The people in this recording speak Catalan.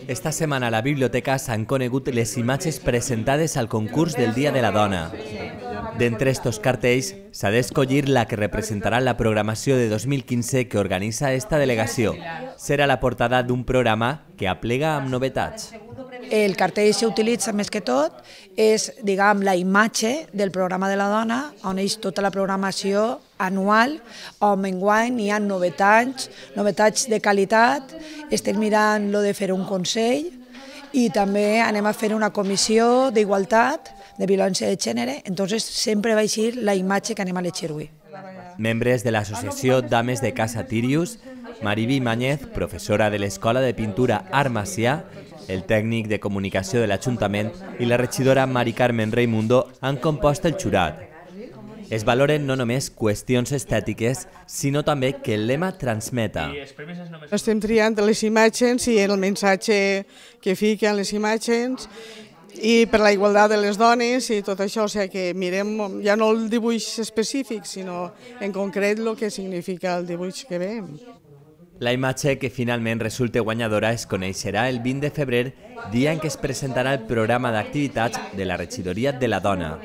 Esta setmana a la biblioteca s'han conegut les imatges presentades al concurs del Dia de la Dona. D'entre estos cartells s'ha d'escollir la que representarà la programació de 2015 que organitza esta delegació. Serà la portada d'un programa que aplega amb novetats. El cartell que s'utilitza més que tot és, diguem, la imatge del programa de la dona, on és tota la programació anual, on enguany hi ha novetats de qualitat. Estem mirant lo de fer un consell i també anem a fer una comissió d'igualtat, de violència de gènere, entonces sempre va eixir la imatge que anem a elegir avui. Membres de l'associació Dames de Casa Tirius, Mariby Mañez, professora de l'Escola de Pintura Art Macià, el tècnic de comunicació de l'Ajuntament i la regidora Mari Carmen Reimundo han compost el jurat. Es valoren no només qüestions estètiques, sinó també que el lema transmeta. Estem triant les imatges i el missatge que fiquen les imatges i per la igualtat de les dones i tot això, o sigui que mirem ja no el dibuix específic, sinó en concret el que significa el dibuix que veiem. La imatge que finalment resulta guanyadora es coneixerà el 20 de febrer, dia en què es presentarà el programa d'activitats de la Regidoria de la Dona.